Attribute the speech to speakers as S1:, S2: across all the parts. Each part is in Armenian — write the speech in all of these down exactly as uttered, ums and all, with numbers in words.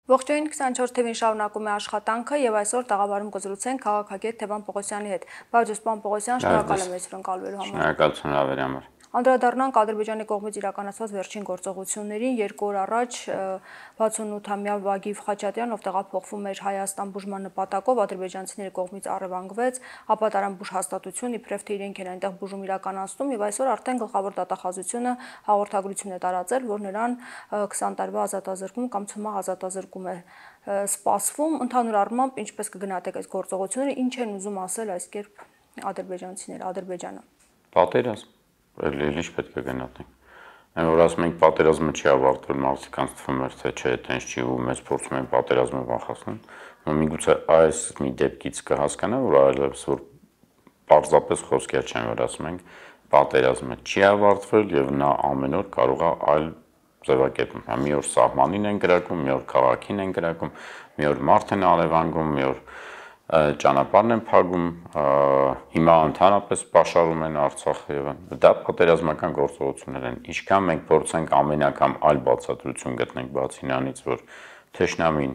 S1: Ողջույն քսանչորս թիվին շարունակում է աշխատանքը եւ այսօր տաղավարում կզրուցենք քաղաքագետ Թևան Պողոսյանի հետ։ Բարև պարոն Պողոսյան, շնորհակալ եմ մեզ հրավիրելու համար։
S2: Շնորհակալություն հավերի համար։
S1: Անդրադառնանք Ադրբեջանի կողմից իրականացված վերջին գործողություններին, երկու օր առաջ վաթսունութամյա Վագիվ Խաչատյան, ով տեղափոխվում էր Հայաստան բուժման նպատակով, ադրբեջանցիների կողմից առևանգվեց, ապա տարան բուժհաստատություն, իբրև թե իրենք են այնտեղ բուժում իրականացնում, եւ այսօր արդեն գլխավոր դատախազությունը հաղորդագրություն է տարածել, որ նրան քսան տարվա ազատազրկում կամ ցմահ ազատազրկում է սպասվում։ Ընդհանուր առմամբ, ինչպես կգնահատեք այս գործողությունները, ինչ են ուզում ասել այս կերպ ադրբեջանցիները, Ադրբեջանը։
S2: Պատերազմ Լիլիչ պետք է գնահատենք։ Այն որ ասում ենք պատերազմը չի ավարտվել, մարդկանց թվում էր թե չէ, տենց չի ու մեզ փորձում են պատերազմը վախեցնել։ Ու միգուցե այս մի դեպքից կհասկանա, որ այլևս որ պարզապես խոսքեր չեն, որ ասում ենք պատերազմը չի ավարտվել եւ նա ամեն օր կարող է այլ ձևակերպում։ Մի օր սահմանին են գրակում, մի օր քաղաքին են գրակում, մի օր մարդ են արևանգում, մի օր ճանապարհն են փակում, հիմա ընդհանրապես պաշարում են Արցախը եւ դա պատերազմական գործողություններ են։ Ինչքան մենք փորձենք ամեն անգամ այլ բացատրություն գտնենք բացի նրանից, որ թշնամին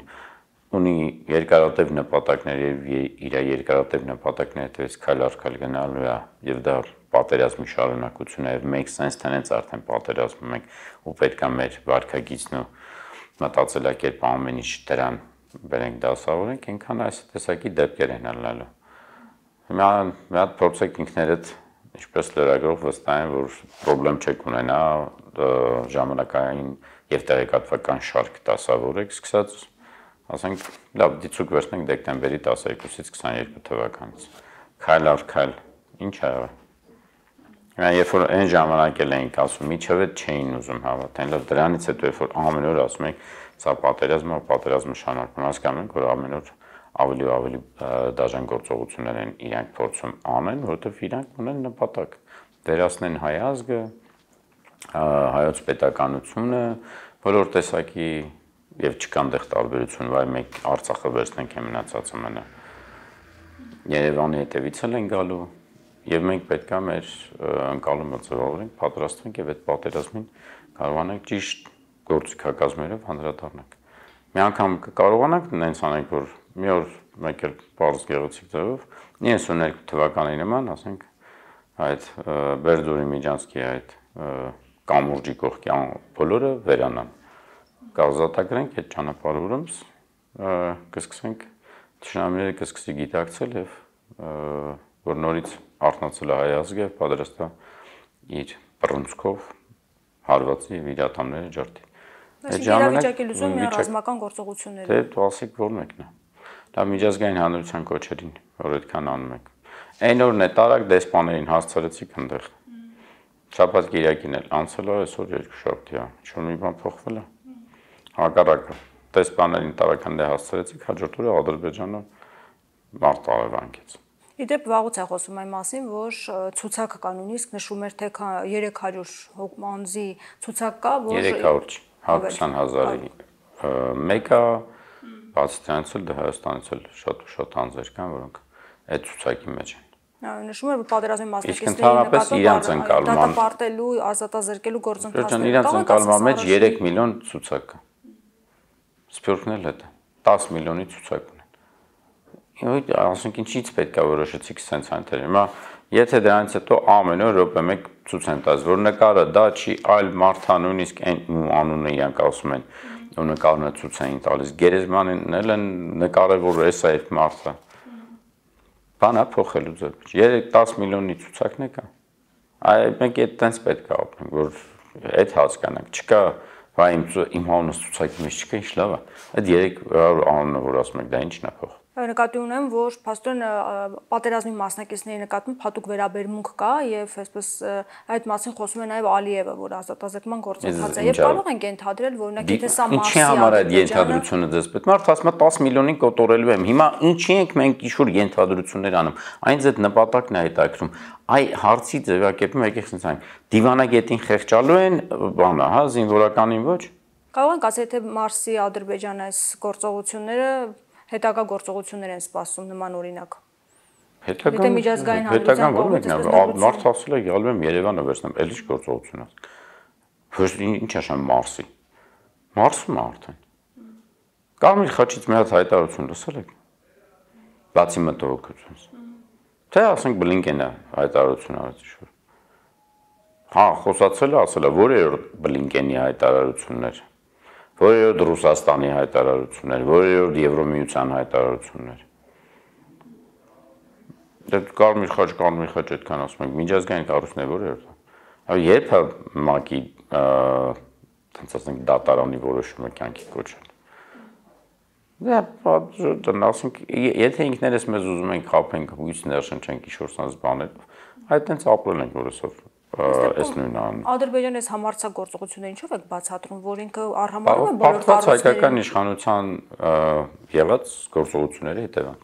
S2: ունի երկարատև նպատակներ եւ իր երկարատև նպատակների հետեւից քայլ առ քայլ գնալու է եւ դա պատերազմի շարունակություն է եւ մենք sense տնից արդեն պատերազմում ենք ու պետք է մեր վարքագիծն ու մտածելակերպը ամեն ինչ դրան բերենք դասավորենք, այնքան այս տեսակի դեպքեր են ալնալու։ Հիմա մի հատ փորձեք ինքներդ ինչպես լրագրող վստահեն, որ խնդրեմ չեք ունենա ժամանակային եւ տեղեկատվական շարք դասավորեք, սկսած ասենք լավ դիցուկ վերցնենք դեկտեմբերի տասներկուսից քսաներկու թվականից։ Քայլ առ քայլ ինչ ա եղել։ Հիմա երբ որ այն ժամանակ էլ էինք ասում, միջև չէին ուզում հավատալ, լավ դրանից հետո երբ որ ամեն օր ասում ենք սա պատերազմը, պատերազմը շարունակվում, հասկանում ենք, որ ամեն օր ավելի ու ավելի դաժան գործողություններ են իրանք փորձում անեն, որովհետև իրանք ունեն նպատակ վերացնեն հայ ազգը, հայոց պետականությունը, բոլոր տեսակի եւ չկան դեղ տարբերություն, վայ մենք Արցախը վերցնենք եւ մնացածը մնա։ Երևանի հետևից են գալու եւ մենք պետք է մեր ընկալումը ձևավորենք, պատրաստվենք եւ այդ պատերազմին կարողանանք ճիշտ գործիքակազմերով հանդրադառնանք։ Մի անգամ կարողանանք նենց անենք, որ մի օր մեկ էլ բարձ գեղեցիկ ձևով իննսուն երկու թվականի նման, ասենք, այդ Բերդուրի Միջանցքի այդ կամուրջի կողքի բոլորը վերանան։ Կազատագրենք այդ ճանապարհը ուրեմս կսկսենք թշնամիները կսկսի գիտակցել եւ որ նորից արթնացել է հայ ազգը եւ պատրաստ է իր բռունցքով հարվածի եւ իր ատամները ջարդի։
S1: Այդ ժամանակի լուծում մի ռազմական գործողություններ։
S2: Դե դու ասեք որ մեկն է։ Դա միջազգային հանրության կոչերին, որ այդքան անում եք։ Այն օրն է տարակ դեսպաներին հասցրեցիք այնտեղ։ Շաբաթ Կիրակին էլ անցել է, այսօր երկուշաբթի է։ Ինչ-որ մի բան փոխվել է։ Հակառակը դեսպաներին տարական դե հասցրեցիք, հաջորդ օրը Ադրբեջանը մարդ արևանգեց։
S1: Իդեպ վաղուց է խոսում այն մասին, որ ցուցակ կա նույնիսկ նշում էր թե երեք հարյուր անձի ցուցակ կա, որ
S2: երեք հարյուր հիսուն հազարի մեկը բացի դրանից էլ Հայաստանից էլ շատ ու շատ անձեր կան, որոնք այդ ցուցակի մեջ են։
S1: Նշում էր, որ պատերազմի մասնակիցների
S2: նկատմամբ
S1: դատապարտելու, ազատազրկելու գործընթացները
S2: իրանց ընկալման մեջ երեք միլիոն ցուցակ կա։ Սփյուռքն էլ է դես միլիոնի ցուցակ ունեն։ Ասենք ինչից պետք է որոշեցիք սենց այնտեղ։ Հիմա եթե դրանից հետո ամեն օր րոպե մեկ ցույց են տալիս, որ նկարը դա չի, այլ մարդա նույնիսկ այն անունը իրանք ասում են, ու նկարն է ցույց են տալիս։ Գերեզմանին էլ են նկարել, որ էս է այդ մարդը։ Բանա փոխելու ձեռք։ երեք դես միլիոնի ցուցակն է կա։ Այ մենք այդտենց պետք է ապրենք, որ այդ հասկանանք։ Չկա, վայ իմ իմ անունս ցուցակի մեջ չկա, ինչ լավ է։ Այդ երեք անունը որ ասում եք, դա ինչն է փոխ։
S1: Նկատի ունեմ, որ փաստորեն պատերազմի մասնակիցների նկատմամբ հատուկ վերաբերմունք կա եւ այսպես այդ մասին խոսում է նաեւ Ալիևը, որ ազատազրկման գործընթաց է եւ կարող ենք ենթադրել, որ նա գիտե սա մասի
S2: ինչի համար այդ ենթադրությունը դες պետք։ Մարդ ասում է դես միլիոնին կոտորելու եմ։ Հիմա ինչի ենք մենք իշուր ենթադրություններ անում։ Այնց այդ նպատակն է հետաքրում։ Այ հարցի ձևակերպումը եկեք ասենք այն դիվանագետին խեղճալու են, բանա, հա, զինվորականին ոչ։
S1: Կարող ենք ասել, թե Մարսի Ադրբեջան այս գործողությունները հետագա գործողություններ են սպասում նման օրինակ։
S2: Հետագան
S1: միջազգային
S2: հանրության կողմից մարդ ասել է գալու եմ Երևանը վերցնեմ, էլ ինչ գործողություն է։ Ոչ ինչ է շան Մարսի։ Մարսում արդեն։ Կարմիր խաչից մի հատ հայտարարություն լսել եք։ Բացի մտահոգությունից։ Թե ասենք Բլինկենը հայտարարություն արեց ինչ-որ։ Հա, խոսացել է, ասել է, որերորդ Բլինկենի հայտարարություններ, որերորդ Ռուսաստանի հայտարարություններ, որերորդ Եվրոմիության հայտարարություններ։ Դե կարմիր խաչ, կարմիր խաչ այդքան ասում ենք, միջազգային կառույցն է որերորդ։ Այո, երբ է ՄԱԿ-ի, տենց ասենք, դատարանի որոշումը կյանքի կոչել։ Դա ասենք, եթե ինքներս մեզ ուզում ենք խաբենք, հույս ներշնչենք ինչ-որ սանց բաներ, այդ տենց ապրել ենք որսով այս նույն անում։
S1: Ադրբեջանի այս համարձակագործողությունները ինչով եք բացատրում, որ ինքը արհամարհում է բոլոր
S2: կառույցների հայկական իշխանության եղած գործողությունների հետևանք։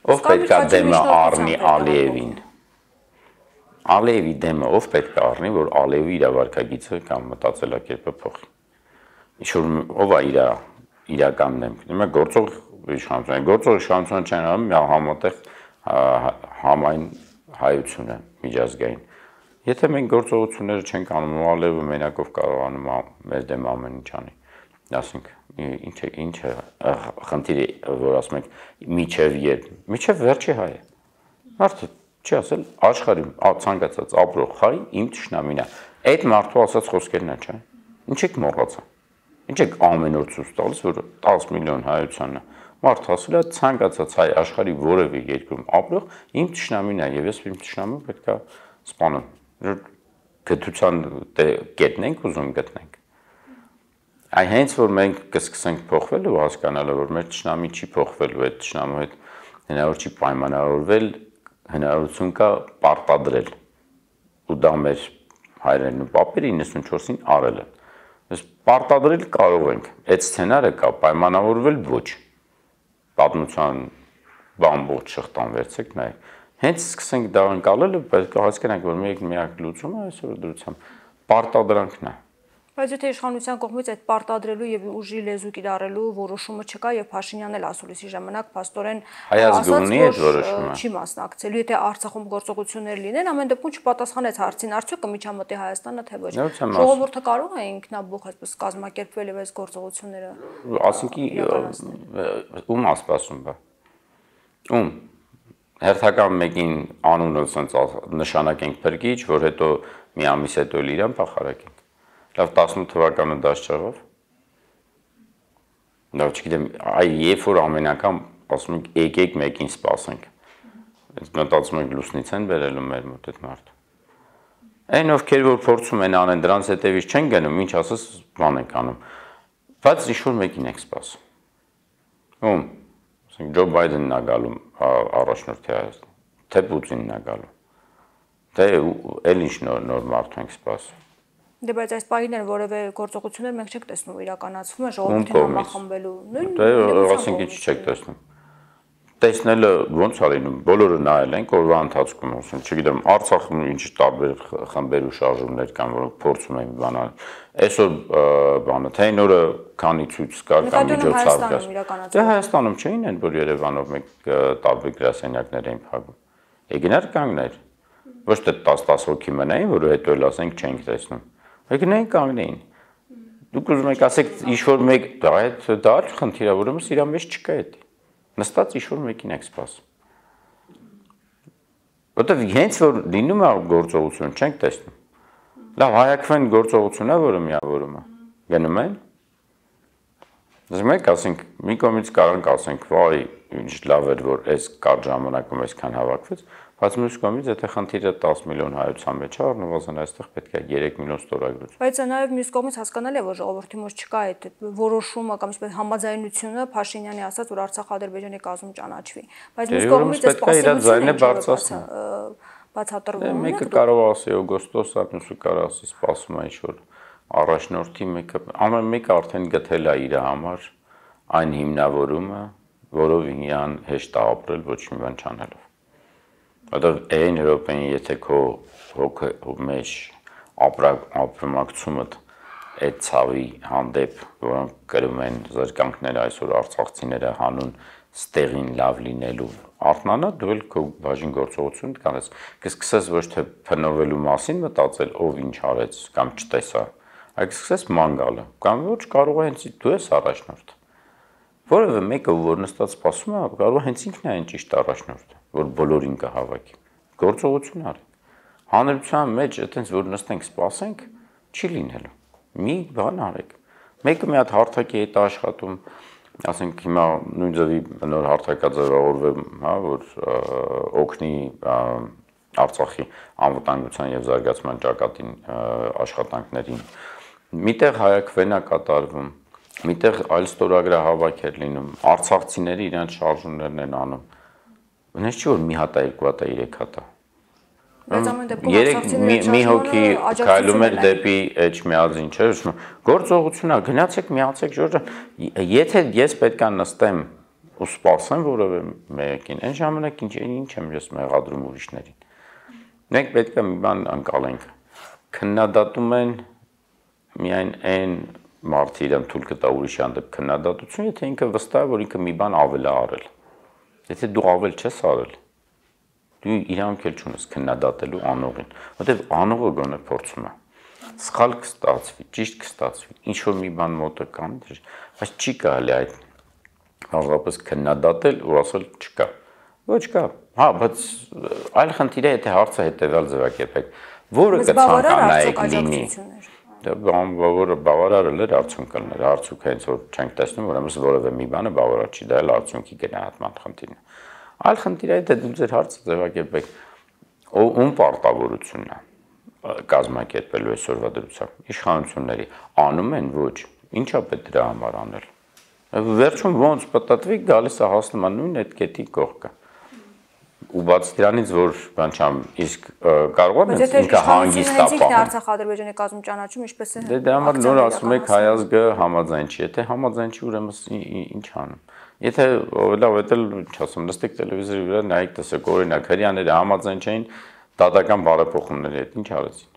S2: Ով պետք է դեմը առնի Ալիևին։ Ալիևի դեմը ով պետք է առնի, որ Ալիևի իրավարկագիծը կամ մտածելակերպը փոխի։ Ինչ-որ ով է իր իրականն եմ։ Հիմա գործող իշխանություն, գործող իշխանություն չեն անում համատեղ համայն հայությունը միջազգային։ Եթե մենք գործողությունները չենք անում, Ալիևը մենակով կարողանում մեր դեմ ամեն ինչ անի։ Ասենք, ինչ է, ինչ է խնդիրը, որ ասում ենք միջև երբ, միջև վերջի հայ է։ Մարդը չի ասել աշխարհի ցանկացած ապրող հայ իմ թշնամին է։ Այդ մարդու ասած խոսքերն են, չէ՞։ Ինչ եք մոռացա։ Ինչ եք ամեն օր ցույց տալիս, որ տասը միլիոն հայությանն է։ Մարդ ասել է ցանկացած հայ աշխարհի որևէ երկրում ապրող իմ թշնամին է եւ ես իմ թշնամուն պետք է սպանեմ։ Գտության կետնենք ուզում գտնենք։ Այ հենց որ մենք կսկսենք փոխվել ու հասկանալը, որ մեր թշնամի չի փոխվելու, այդ թշնամու հետ հնարավոր չի պայմանավորվել, հնարավորություն կա պարտադրել։ Ու դա մեր հայրերն ու պապերը իննսունչորսին արել են։ Ես պարտադրել կարող ենք, այդ սցենարը կա, պայմանավորվել ոչ։ Պատմության բամբողջ շղթան վերցեք նայեք։ Հենց սկսենք դա անցալել, պետք է հասկանանք, որ մեկ միակ լուծումը այսօր դրությամբ պարտադրանքն է։
S1: Բայց եթե իշխանության կողմից այդ պարտադրելու եւ ուժի լեզու կիրառելու որոշումը չկա եւ Փաշինյանն էլ ասուլիսի ժամանակ փաստորեն
S2: հայազգունի այդ որոշումը
S1: չի մասնակցելու, եթե Արցախում գործողություններ լինեն, ամեն դեպքում չպատասխանեց հարցին, արդյոք կմիջամտի Հայաստանը թե ոչ։ Ժողովուրդը կարող է ինքնաբուխ այսպես կազմակերպվել եւ այս գործողությունները։
S2: Ասինքի ում ասպասում բա։ Ում հերթական մեկին անունը ասենց նշանակենք փրկիչ, որ հետո մի ամիս հետո իրան փախարակենք։ Լավ տասնութ թվականը դաշ չեղավ։ Լավ չգիտեմ, այ երբ որ ամեն անգամ ասում ենք եկեք մեկին սպասենք։ Այս մտածում ենք լուսնից են բերելու մեր մոտ այդ մարդը։ Այն ովքեր որ փորձում են անեն դրանց հետևից չեն գնում, ինչ ասես բան ենք անում։ Բայց ինչ-որ մեկին եք սպասում։ Ում, ասենք Ջո Բայդենն է գալու առաջնորդի Հայաստան, թե Պուտինն է գալու։ Թե էլ ինչ նոր նոր մարդ ենք սպասում։
S1: Դե բայց այս պահին որևէ գործողություններ մենք չենք տեսնում իրականացվում է ժողովրդին համախմբելու։
S2: Դե ասենք ինչ չեք տեսնում։ Տեսնելը ոնց է լինում, բոլորը նայել են օրվա ընթացքում, ասում, չգիտեմ, Արցախում ինչ տարբեր խմբեր ու շարժումներ կան, որոնք փորձում են բանալ։ Այսօր բանը թե այն օրը քանի ցույց կար կամ միջոցառում կար։ Դե Հայաստանում չէին են, որ Երևանով մեկ տարբեր գրասենյակներ էին փակում։ Եկնար կանգներ։ Ոչ թե տասը հոգի մնային, որ հետո էլ ասենք չենք տեսնում։ Եկնային կանգնեին։ Դուք ուզում եք ասեք ինչ-որ մեկ դա այդ դա խնդիր է, ուրեմն իրա մեջ չկա այդ։ Նստած ինչ-որ մեկին եք սպասում։ Որտեվ հենց որ լինում է գործողություն, չենք տեսնում։ Լավ, հայակվեն գործողությունն է, որը միավորում է։ Գնում են։ Ասում եք, ասենք, մի կողմից կարող ասենք, վայ, ինչ լավ էր, որ այս կարճ ժամանակում այսքան հավաքվեց, բայց մյուս կողմից, եթե խնդիրը տասը միլիոն հայության մեջ է, առնվազն այստեղ պետք է երեք միլիոն ստորագրություն։
S1: Բայց նաև մյուս կողմից հասկանալի է, որ ժողովրդի մեջ չկա այդ որոշումը կամ այսպես համաձայնությունը Փաշինյանի ասած, որ Արցախ-Ադրբեջանի կազմում ճանաչվի։ Բայց մյուս կողմից այս պասիվությունը բացատրվում է։
S2: Մեկը կարող ասի օգոստոս, մյուսը կարող ասի սպասում է ինչ-որ առաջնորդի մեկը, ամեն մեկը արդեն գտել է իր համար այն հիմնավորումը, որով իրան հեշտ է ապրել ոչ մի բան չանելով։ Որտեղ այն Եվրոպային, եթե քո հոգու մեջ ապրումակցումդ այդ ցավի հանդեպ, որոնք կրում են զրկանքները այսօր արցախցիները հանուն ստեղին լավ լինելու, արթնանա դու էլ քո բաժին գործողություն կանես, կսկսես ոչ թե փնովելու մասին մտածել, ով ինչ արեց կամ չտեսա, այլ կսկսես ման գալը, կամ ոչ կարող է հենց դու ես առաջնորդ։ Որևէ մեկը, որ նստած սպասում է, կարող է հենց ինքն է այն ճիշտ առաջնորդը, որ բոլորին կհավաքի։ Գործողություն արեք։ Հանրության մեջ այտենց որ նստենք սպասենք, չի լինելու։ Մի բան արեք։ Մեկը մի հատ հարթակի հետ աշխատում, ասենք հիմա նույն ձևի նոր հարթակաձևավորվեմ, հա, որ օգնի Արցախի անվտանգության եւ զարգացման ճակատին աշխատանքներին։ Միտեղ հայակվեն է կատարվում, միտեղ այլ ստորագրահավաք էր լինում, արցախցիները իրանց շարժումներն են անում։ Բնես չի որ մի հատ է, երկու հատ է, երեք հատ է։ Մի հոգի քայլում էր դեպի Էջմիածին, չէ՞, գործողությունա, գնացեք, միացեք, Ժորժ ջան, եթե ես պետք է նստեմ ու սպասեմ որևէ մեկին, այն ժամանակ ինչ ինչ եմ ես մեղադրում ուրիշներին։ Մենք պետք է մի բան անցալենք։ Քննադատում են միայն այն մարդը իրեն թույլ կտա ուրիշի հանդեպ քննադատություն, եթե ինքը վստահ է, որ ինքը մի բան ավել է արել։ Եթե դու ավել չես արել, դու իրանք էլ չունես քննադատելու անողին, որտեղ անողը գոնե փորձում է։ Սխալ կստացվի, ճիշտ կստացվի, ինչ որ մի բան մոտը կան, բայց չի կարելի այդ հազարապես քննադատել ու ասել չկա։ Ոչ կա։ Հա, բայց այլ խնդիր է, եթե հարցը հետևյալ ձևակերպեք, որը կցանկանայիք լինի։ Դա բավարար բավարարել էր արդյունքներ, արդյունք հենց որ չենք տեսնում, ուրեմն որևէ մի բանը բավարար չի, դա էլ արդյունքի գնահատման խնդիրն է։ Այլ խնդիրը է, թե դու ձեր հարցը ձևակերպեք, ում պարտավորությունն է կազմակերպելու այսօրվա դրությամբ, իշխանությունների անում են ոչ, ինչա պետք դրա համար անել։ Վերջում ոնց պատտվիկ գալիս է հասնում է նույն այդ կետի կողքը։ Ու բացի դրանից որ բան չեմ, իսկ կարող է ինքը հանգիստ ապահովում։
S1: Արցախ-Ադրբեջանի կազմում ճանաչում ինչպես է։
S2: Դե դա համար նոր ասում եք հայազգը համաձայն չի, եթե համաձայն չի, ուրեմն ինչ անում։ Եթե լավ է, ինչ ասում, նստեք տելևիզորի վրա, նայեք, տեսեք, օրինակ հрьяաները համաձայն չէին դատական բարեփոխումների հետ, ինչ արեցին։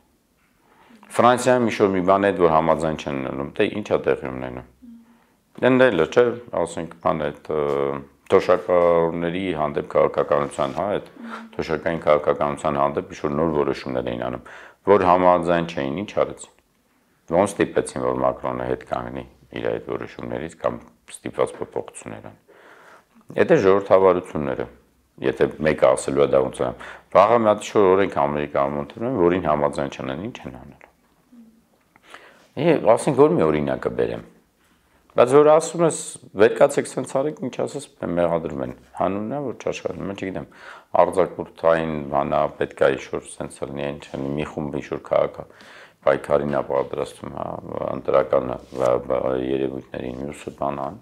S2: Ֆրանսիայում ինչ-որ մի բան հետ, որ համաձայն չեն լինում, դե ի՞նչ է տեղի ունենում։ Դենდելը, չէ, ասենք, բան այդ թոշակառուների հանդեպ քաղաքականության, հա, այդ թոշակային քաղաքականության հանդեպ ինչ-որ նոր որոշումներ էին անում, որ համաձայն չէին, ինչ արեցին։ Ոնց ստիպեցին, որ Մակրոնը հետ կանգնի իր այդ որոշումներից կամ ստիպված փոփոխություններ ան։ Եթե ժողովրդավարությունները, եթե մեկը ասելու է դա ոնց է, վաղը մի հատ ինչ-որ օրենք Ամերիկայում ընդունում, որին համաձայն չեն, ինչ են անելու։ Եվ ասենք որ մի օրինակը բերեմ։ Բայց որ ասում ես, վերկացեք սենց արեք, ինչ ասես, մեղադրում են, հանուն է, որ չաշխատում, mən չգիտեմ, արձակուրդային բանա, պետք է ինչ-որ սենց լինի, ինչ են, մի խումբ ինչ-որ քաղաք պայքարին է պատրաստում, ընտրական երևույթներին, մյուսը բանան,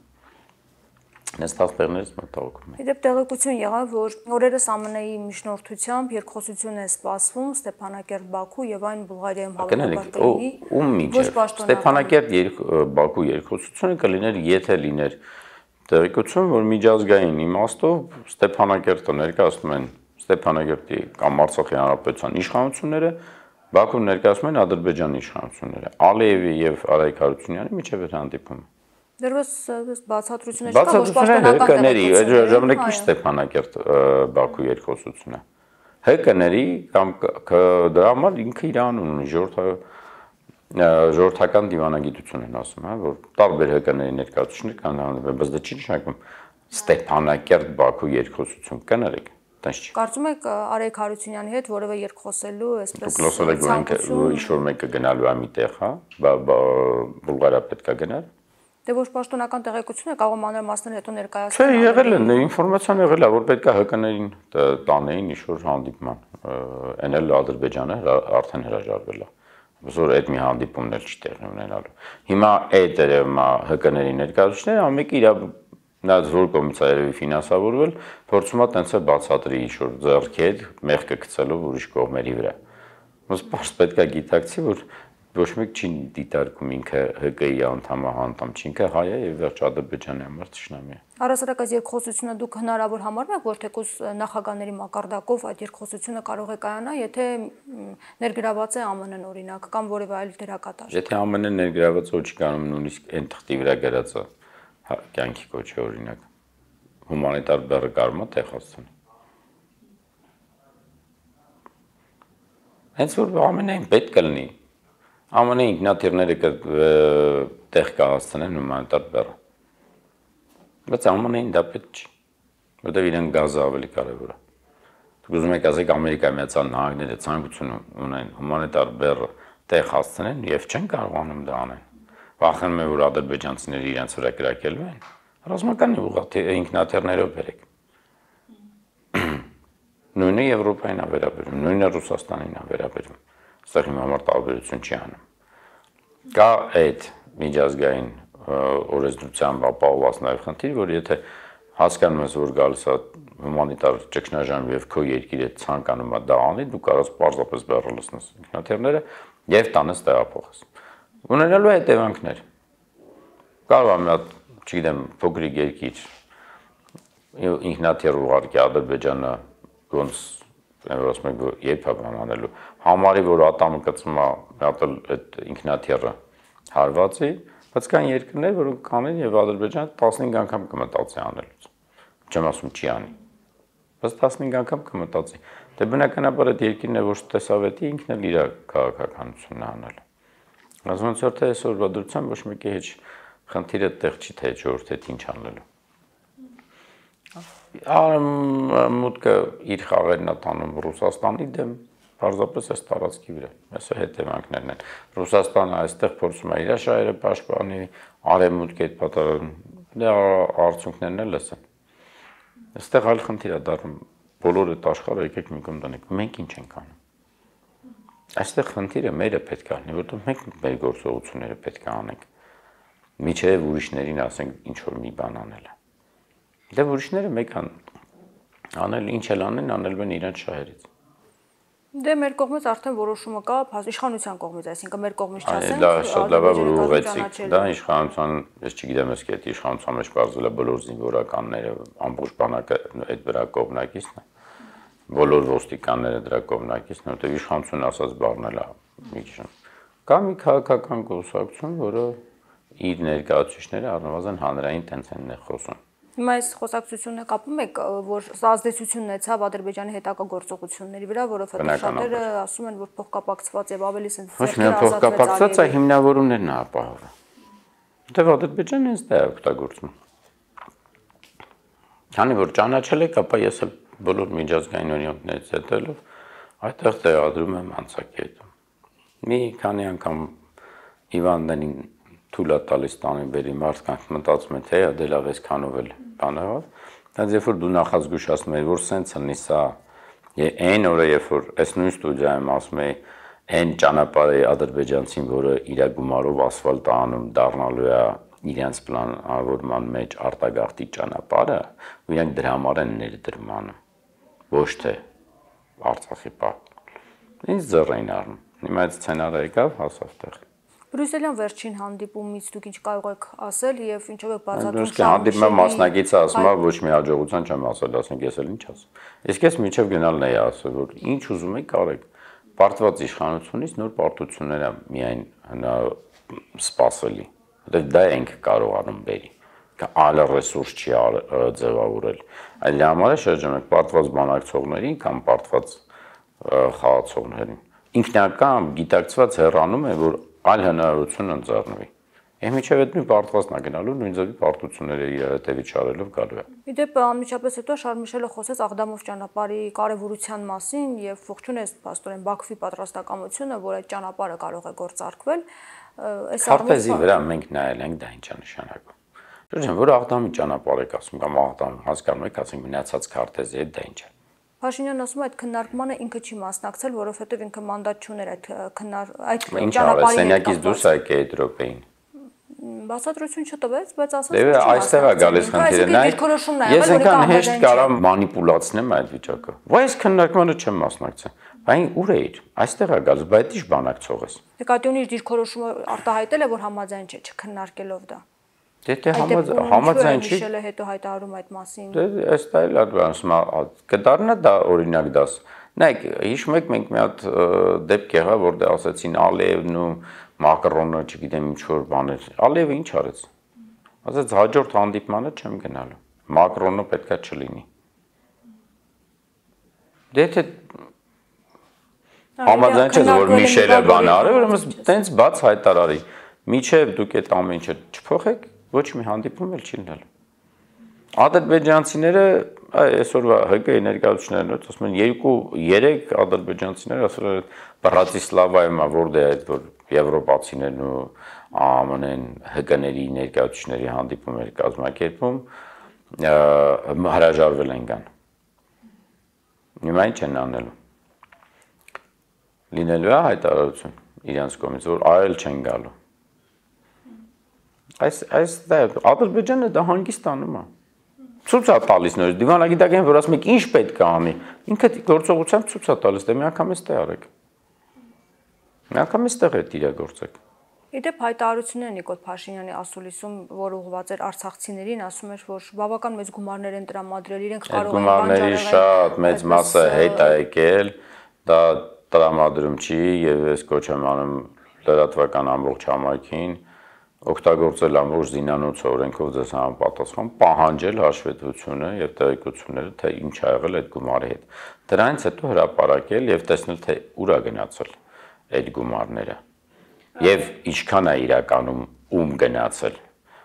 S2: Ես տասներներից մտահոգում եմ։
S1: Իդեպ տեղեկություն եղավ, որ օրերս ԱՄՆ-ի միջնորդությամբ երկխոսություն է սպասվում Ստեփանակերտ-Բաքու եւ այն Բուլղարիայում հավաքականների։
S2: Ում միջև Ստեփանակերտ-Բաքու երկխոսությունը կլիներ, եթե լիներ տեղեկություն, որ միջազգային իմաստով Ստեփանակերտը ներկայացնում են Ստեփանակերտի կամ Արցախի հանրապետության իշխանությունները, Բաքուն ներկայացնում են Ադրբեջանի իշխանությունները, Ալիևի եւ Արայք Հարությունյանի միջև էր հանդիպում։
S1: Դեռևս բացատրություններ չկա, ոչ պաշտոնական
S2: տեղեկություններ։ Ժամանակ ի Ստեփանակերտ Բաքու երկխոսությունը։ ՀԿ-ների կամ դրա համար ինքը իր անուն ունի, ժողովրդական դիվանագիտություն են ասում, հա, որ տարբեր ՀԿ-ների ներկայացուցիչներ կան, բայց դա չի նշանակում Ստեփանակերտ Բաքու երկխոսություն կներեք։
S1: Կարծում եք Արայք Հարությունյանի հետ որևէ երկխոսելու այսպես
S2: ցանկություն ինչ-որ մեկը գնալու է միտեղ, հա, Բուլղարիա պետք է գնալ։
S1: Դե ոչ պաշտոնական տեղեկություն է, կարող մանրամասներ հետո ներկայացնել։
S2: Չէ, եղել է, ինֆորմացիան եղել է, որ պետք է ՀԿ-ներին տանեին ինչ-որ հանդիպման, այն էլ Ադրբեջանը արդեն հրաժարվել է, որ այդ մի հանդիպումն էլ չի տեղի ունենալու։ Հիմա այդ երևում է ՀԿ-ների ներկայացուցիչները ամենը իր Նայած որ կողմից է երևի ֆինանսավորվել, փորձում է տենց է բացատրի ինչ-որ ձեռքի հետ մեղքը գցելով ուրիշ կողմերի վրա։ Ոնց պարզ պետք է գիտակցի, որ ոչ մեկ չի դիտարկում ինքը ՀԿ-ի անդամ անդամ չի, ինքը հայ է եւ վերջ Ադրբեջանի համար ճշնամի է։
S1: Առասարակ այս երկխոսությունը դուք հնարավոր համարում եք, որ թեկուզ նախագահների մակարդակով այդ երկխոսությունը կարող է կայանալ, եթե ներգրաված է ԱՄՆ-ն օրինակ կամ որևէ այլ դերակատար։
S2: Եթե ԱՄՆ-ն ներգրաված ոչ կանում նույնիսկ այն թղթի վրա գրած է կյանքի կոչի օրինակ հումանիտար բեռը կարում է Տեխասցան։ Հենց որ ամենայն պետք կլինի, ամենայն ինքնաթիռները տեղ կհասցնեն հումանիտար բեռը։ Բայց Է Մ Ն-ին դա պետք չի, որտեղ իրեն գազը ավելի կարևոր է։ Դուք ուզում եք ասեք Ամերիկայի Միացյալ Նահանգները ցանկություն ունեն հումանիտար բեռը տեղ հասցնեն եւ չեն կարողանում դա անեն։ Վախենում են, որ ադրբեջանցիները իրենց վրա կրակելու են։ Ռազմական ուղղաթի ինքնաթիռներով բերեք։ Նույնը Եվրոպային է վերաբերում, նույնը Ռուսաստանին է վերաբերում։ Այստեղ իմ համար տարբերություն չի անում։ Կա այդ միջազգային օրենսդրությամբ ապահովված նաև խնդիր, որ եթե հասկանում ես, որ գալիս է հումանիտար ճգնաժամ եւ քո երկիրը ցանկանում է դա անի, դու կարող ես պարզապես բեռը լցնես ինքնաթիռները եւ տանես տեղափոխես։ Ունենալու է հետևանքներ։ Կարող է մի հատ, չգիտեմ, փոքրիկ երկիր ինքնաթիռ ուղարկի Ադրբեջանը ոնց ասում եք երբ է բան անելու համարի, որ ատամը կծում է մի հատ այդ ինքնաթիռը հարվածի, բայց կան երկրներ, որոնք կանեն եւ Ադրբեջանը տասնհինգ անգամ կմտածի անելուց։ Չեմ ասում չի անի։ Բայց տասնհինգ անգամ կմտածի։ Դե բնականաբար այդ երկիրն է, որ տեսավետի ինքն էլ իր քաղաքականությունն է անել։ Ասում եմ, թե այսօրվա դրությամբ ոչ մեկի հետ խնդիրը տեղ չի, թե ժողովուրդը ինչ անելու։ Մուտքը իր խաղերն է տանում Ռուսաստանի դեմ, պարզապես այս տարածքի վրա։ Այսօր հետևանքներն են։ Ռուսաստանը այստեղ փորձում է իր շահերը պաշտպանի, արևմուտքը այդ պատահարան դե արդյունքներն էլ լսեն։ Այստեղ այլ խնդիր է դառնում, բոլոր այդ աշխարհը եկեք մի կողմ դնենք, մենք ինչ ենք անում։ Այստեղ խնդիրը մերը պետք է լինի, որտեղ մենք մեր գործողությունները պետք է անենք։ Միջև ուրիշներին ասենք ինչ որ մի բան անել է։ Դե ուրիշները մեկ անել ինչ էլ անեն, անելու են իրենց շահերից։
S1: Դե մեր կողմից արդեն որոշումը կա, իշխանության կողմից, այսինքն մեր կողմից չասենք։
S2: Դա շատ լավ է, որ ուղղեցիք։ Դա իշխանության, ես չգիտեմ, ես կետի իշխանության մեջ բարձել է բոլոր զինվորականները, ամբողջ բանակը այդ վրա կողմնակիցն է։ Բոլոր ոստիկանները դրա կողմնակիցն են, որտեղ իշխանությունը ասած բառն էլ է մի քիչ։ Կա մի քաղաքական կուսակցություն, որը իր ներկայացուցիչները առնվազն հանրային տենցենն է խոսում։
S1: Հիմա այս խոսակցությունը կապում եք, որ սա ազդեցություն ունեցավ Ադրբեջանի հետագա գործողությունների վրա, որովհետև շատերը ասում են, որ փոխկապակցված եւ ավելի սենց
S2: ոչ միայն փոխկապակցված, այլ հիմնավորումներն է ապահովում։ Որտեղ Ադրբեջանը ինձ դա է օգտագործում։ Քանի որ ճանաչել եք, ապա ես էլ բոլոր միջազգային օրենքներից հետելով այդտեղ տեղադրում եմ անցակետում։ Մի քանի անգամ Իվաններին թույլ է տալիս տանի բերի մարդկանց մտածում են, թե դե լավ էս քանով էլ բանը հա։ Բայց երբ որ դու նախազգուշացնում ես, որ սենց ունի սա, այն օրը երբ որ այս նույն ստուդիայում ասում է այն ճանապարհը ադրբեջանցին, որը իր գումարով ասֆալտ անում դառնալու է իրենց պլանավորման մեջ արտագաղթի ճանապարհը, ու իրենք դրա համար են ներդրում անում, ոչ թե Արցախի պահ։ Ինձ ձեռ էին առնում։ Հիմա այդ սցենարը եկավ, հասավ տեղ։
S1: Բրյուսելյան վերջին հանդիպումից դուք ինչ կարող եք ասել եւ ինչով եք բացատրում
S2: շարժումը։ Հանդիպումը մասնակիցը ասում է ոչ մի հաջողության չեմ ասել, ասենք ես էլ ինչ ասեմ։ Իսկ ես միջև գնալն էի ասել, որ ինչ ուզում եք կարեք։ Պարտված իշխանությունից նոր պարտություններ է միայն հնա սпасելի։ Որտեղ դա ենք կարողանում բերի։ Այլ ռեսուրս չի ձևավորել։ Այլ համար է շրջում եք պարտված բանակցողներին կամ պարտված խաղացողներին։ Ինքնական գիտակցված հեռանում է, որ այլ հնարավորություն ընձեռնվի։ Եվ միջև այդ նույն պարտվածն է գնալու, նույն ձևի պարտությունները իր հետևից շարելով գալու է։
S1: Իդեպ անմիջապես հետո Շարմիշելը խոսեց Աղդամով ճանապարհի կարևորության մասին եւ ողջուն է փաստորեն Բաքվի պատրաստակամությունը, որ այդ ճանապարհը կարող է գործարկվել։ Այս
S2: քարտեզի վրա մենք նայել ենք, դա ինչ է նշանակում։ Շրջան, որ Աղդամի ճանապարհ եք ասում կամ Աղդամ հասկանում եք, ասենք մնացած քարտեզի հետ դա ինչ է։
S1: Փաշինյանն ասում է այդ քննարկմանը ինքը չի մասնակցել, որովհետև ինքը մանդատ չուներ այդ քննար այդ
S2: ճանապարհի սենյակից դուրս եկե այդ րոպեին։
S1: Բացատրություն չտվեց, բայց ասաց
S2: որ այստեղ է գալիս խնդիրը։ Ես այնքան հեշտ կարամ մանիպուլացնեմ այդ վիճակը։ Ոայ այս քննարկմանը չեմ մասնակցել։ Բայց ուր է իր։ Այստեղ է գալիս, բայց ի՞նչ բանակցող ես։
S1: Նկատի ունի իր դիրքորոշումը արտահայտել է, որ համաձայն չէ չքննարկելով դա։
S2: Դե դե համաձայն չի։
S1: Շելը հետո հայտարարում այդ մասին։
S2: Դե այս տայլ ասում կդառնա դա օրինակ դաս։ Նայեք, հիշում եք մենք մի հատ դեպք եղավ, որտեղ ասացին Ալիևն ու Մակրոնը, չգիտեմ ինչ որ բաներ։ Ալիևը ինչ արեց։ Ասաց հաջորդ հանդիպմանը չեմ գնալու։ Մակրոնը պետքա չլինի։ Դե թե համաձայն չէ, որ Միշելը բան արի, ուրեմն տենց բաց հայտարարի։ Միջև դուք այդ ամեն ինչը չփոխեք, ոչ մի հանդիպում էլ չի լինելու։ Ադրբեջանցիները այսօրվա ՀԿ ներկայացուցիչներն ասում են երկու երեք ադրբեջանցիներ ասել են Բրատիսլավայում որտեղ այդ որ եվրոպացիներն ու ԱՄՆ-ն ՀԿ-ների ներկայացուցիչների հանդիպումներ կազմակերպում հրաժարվել են կան։ Հիմա ինչ են անելու։ Լինելու է հայտարարություն իրենց կողմից, որ այլ չեն գալու։ Այս այս դա Ադրբեջանը դա հանգիստ անում է։ Ցույց է տալիս նոր դիվանագիտական որ ասում եք ինչ պետք է անի։ Ինքը գործողությամբ ցույց է տալիս, դե մի անգամ էստե արեք։ Մի անգամ էստեղ է իրագործեք։
S1: Իդեպ հայտարարությունները Նիկոլ Փաշինյանի ասուլիսում, որ ուղղված էր արցախցիներին, ասում էր, որ բավական մեծ գումարներ են տրամադրել, իրենք կարող են
S2: գումարների շատ մեծ մասը հետ է եկել, դա տրամադրում չի եւ ես կոչ եմ անում լրատվական ամբողջ համայնքին օգտագործել ամբողջ զինանոց օրենքով ձեզ համապատասխան պահանջել հաշվետվությունը եւ տեղեկությունները, թե ինչ ա եղել այդ գումարի հետ։ Դրանից հետո հրապարակել եւ տեսնել, թե ուր է գնացել այդ գումարները եւ ինչքան է իրականում ում գնացել։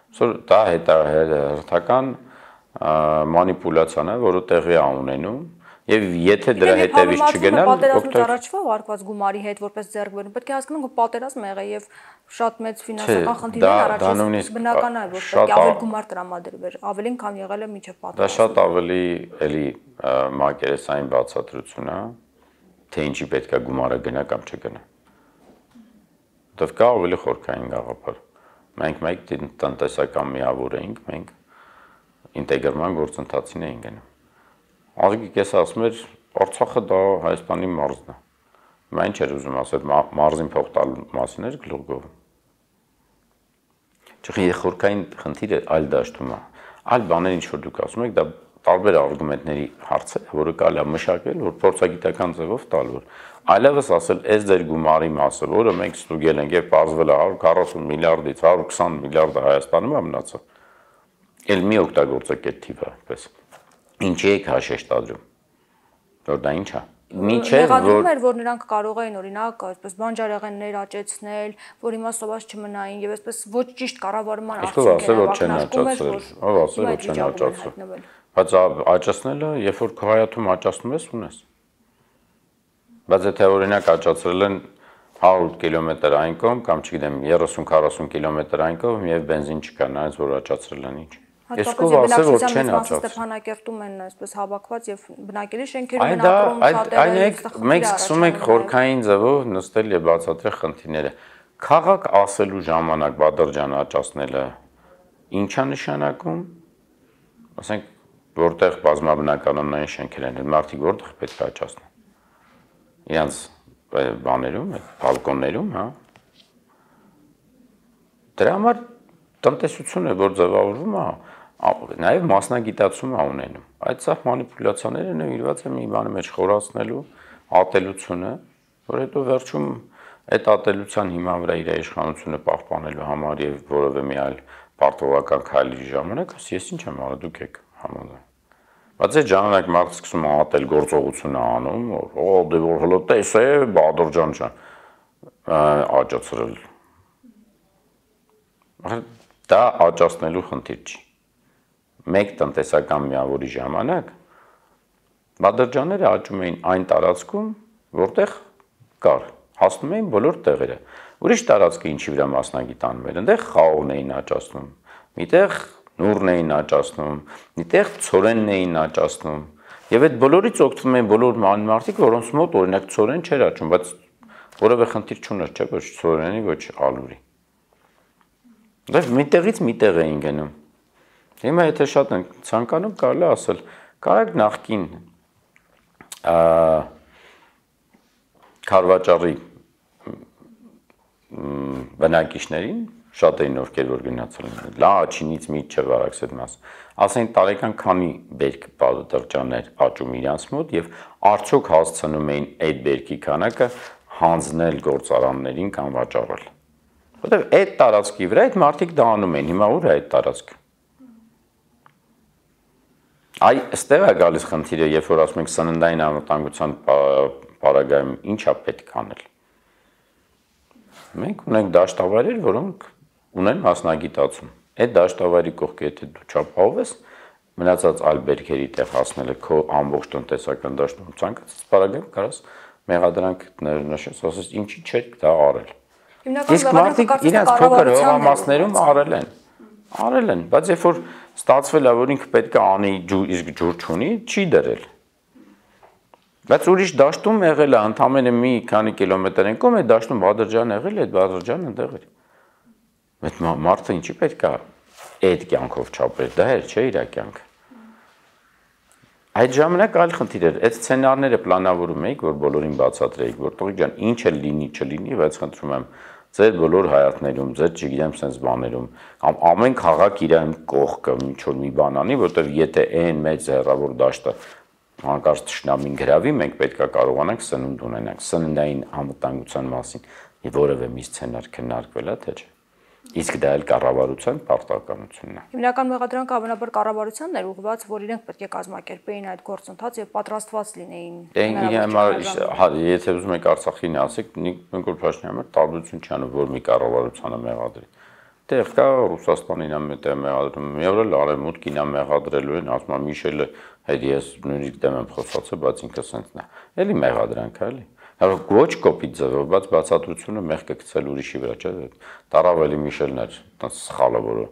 S2: Այսօր դա հետահերթական մանիպուլյացիան է, որը տեղի է ունենում եւ եթե դրա հետևից չգնալ,
S1: պատերազմից առաջվա վարկված գումարի հետ որպես ձեռքբերում, պետք է հասկանանք, որ պատերազմը եղել եւ շատ մեծ ֆինանսական խնդիրներ առաջ բնական է, որ պետք է ավելի գումար տրամադրվեր, ավելին քան եղել է մինչեւ պատերազմը։
S2: Դա շատ ավելի էլի մակերեսային բացատրություն է, թե ինչի պետք է գումարը գնա կամ չգնա։ Դա կա ավելի խորքային գաղափար։ Մենք մեկ տնտեսական միավոր էինք, մենք ինտեգրման գործընթացին էինք գնում։ Ազգի կես ասում էր Արցախը դա Հայաստանի մարզն է։ Հիմա ինչ էր ուզում ասել մարզին փող տալու մասին էր գլուխ գովում։ Չէ, խորքային խնդիրը այլ դաշտում է։ Այլ բաներ ինչ որ դուք ասում եք, դա տարբեր արգումենտների հարց է, որը կարելի է մշակել, որ փորձագիտական ձևով տալ որ այլևս ասել այս ձեր գումարի մասը, որը մենք ստուգել ենք եւ բարձվել է հարյուր քառասուն միլիարդից հարյուր քսան միլիարդը Հայաստանում է մնացել։ Էլ մի օգտագործեք այդ թիվը, այդպես։ Ինչի եք հաշեշտադրում, որ դա ինչ է։
S1: Մեղադրում էր, որ նրանք կարող էին օրինակ այսպես բանջարեղեններ աճեցնել, որ հիմա սոված չմնային եւ այսպես ոչ ճիշտ կառավարման
S2: արդյունքներ ակնարկում էր, ով ասել որ չեն աճացրել։ Բայց աճացնելը, երբ որ քայաթում աճացնում ես, ունես։ Բայց եթե օրինակ աճացրել են հարյուր կիլոմետր այն կողմ կամ չգիտեմ երեսուն քառասուն կիլոմետր այն կողմ եւ բենզին չկա, նայած որ աճացրել են ինչ։ Ես կով ասել որ չեն աճացել։
S1: Ստեփանակերտում են այսպես հավաքված եւ բնակելի շենքերում են ապրում շատերը։
S2: Այն է, մենք սկսում ենք խորքային ձևով նստել եւ բացատրել խնդիրները։ Քաղաք ասելու ժամանակ Բադրջան աճացնելը ի՞նչ է նշանակում։ Ասենք որտեղ բազմաբնականոնային շենքեր են, մարդիկ որտեղ պետք է աճացնեն։ Իրանց բաներում, բալկոններում, հա։ Դրա համար տնտեսությունը որ ձևավորվում է, նաև մասնագիտացում է ունենում։ Այդ սա մանիպուլյացիաները նվիրված են մի բանի մեջ խորացնելու ատելությունը, որ հետո վերջում այդ ատելության հիման վրա իր իշխանությունը պահպանելու համար եւ որևէ մի այլ պարտավորական քայլի ժամանակ, ես ինչ եմ արել, դուք եք համաձայն։ Բայց այդ ժամանակ մարդը սկսում է ատել գործողություն անում, օ, դե որ հլո տես է Բադրջան ջան աճացրել։ Դա աճացնելու խնդիր չի։ Մեկ տնտեսական միավորի ժամանակ Բադրջանները աճում էին այն տարածքում, որտեղ կար, հասնում էին բոլոր տեղերը։ Ուրիշ տարածքը ինչի վրա մասնագիտանում էր, այնտեղ խաղողն էին աճացնում, միտեղ նուրն էին աճացնում, միտեղ ցորենն էին աճացնում։ Եվ այդ բոլորից օգտվում էին բոլոր մարդիկ, որոնց մոտ օրինակ ցորեն չէր աճում, բայց որևէ խնդիր չուներ, չէ՞ ոչ ցորենի, ոչ ալուրի։ Դա միտեղից միտեղ էին գնում։ Հիմա եթե շատ են ցանկանում կարելի է ասել, կարեք նախքին Քարվաճառի բնակիչներին շատ էին ովքեր որ գնացել են, Լաչինից միջև Արաքսետ մաս, ասեն տարեկան քանի բերք Բադրջաններ աճում իրանց մոտ եւ արդյոք հասցնում էին այդ բերքի քանակը հանձնել գործարաններին կամ վաճառել։ Որտեւ այդ տարածքի վրա այդ մարդիկ դա անում են, հիմա ուր է այդ տարածքը։ Այ այստեղ է գալիս խնդիրը, երբ որ ասում ենք սննդային անվտանգության պարագայում ինչա պետք անել։ Մենք ունենք դաշտավայրեր, որոնք ունեն մասնագիտացում։ Այդ դաշտավայրի կողքը եթե դու չապահովես, մնացած այլ բերքերի տեղ հասնելը քո ամբողջ տնտեսական դաշտում ցանկացած բարագայում կարաս մեղադրանք նշես, ասես ինչի՞ չէ դա արել։ Իսկ մարդիկ իրենց փոքր հողամասներում արել են։ Արել են, բայց երբ որ ստացվել է, որ ինքը պետք է անի, իսկ ջուր չունի, չի դրել։ Բայց ուրիշ դաշտում եղել է, ընդամենը մի քանի կիլոմետր են կողմ է դաշտում Բադրջան եղել է, այդ Բադրջանը այնտեղ էր։ Բայց մարդը ինչի պետք է այդ կյանքով չապրել, դա էր չէ իր կյանքը։ Այդ ժամանակ այլ խնդիր էր, այդ սցենարները պլանավորում էիք, որ բոլորին բացատրեիք, որ տղեկ ջան, ինչ էլ լինի, չլինի, բայց խնդրում եմ, ձեր բոլոր հայացներում, ձեր չգիտեմ sense բաներում, կամ ամեն քաղաք իր կողքը ինչ որ մի բան անի, որտեղ եթե այն մեծ հեռավոր դաշտը հանկարծ թշնամին գրավի, մենք պետք է կարողանանք սնունդ ունենանք, սննդային անվտանգության մասին որևէ մի սցենար քննարկվել է, թե չէ։ Իսկ դա էլ կառավարության պարտականությունն է։
S1: Հիմնական մեղադրանքը հավանաբար կառավարությանն էր ուղղված, որ իրենք պետք է կազմակերպեին այդ գործընթացը եւ պատրաստված լինեին։
S2: Եթե ուզում եք Արցախին ասեք, Նիկոլ Փաշինյանը տարբերություն չի անում, որ մի կառավարությանը մեղադրի։ Տեղ կա Ռուսաստանին ամ մտե մեղադրում, Եվրոպան արևմուտքին ամ մեղադրելու են, ասում եմ Միշելը հետ ես նույնիսկ դեմ եմ խոսացել, բայց ինքը սենցն է։ Էլի մեղադրանք է, էլի։ Ոչ կոպիտ ձևով, բայց բացատրությունը մեղքը գցել ուրիշի վրա, չէ՞։ Տարավ էլի Միշելն էր, տենց սխալը, որը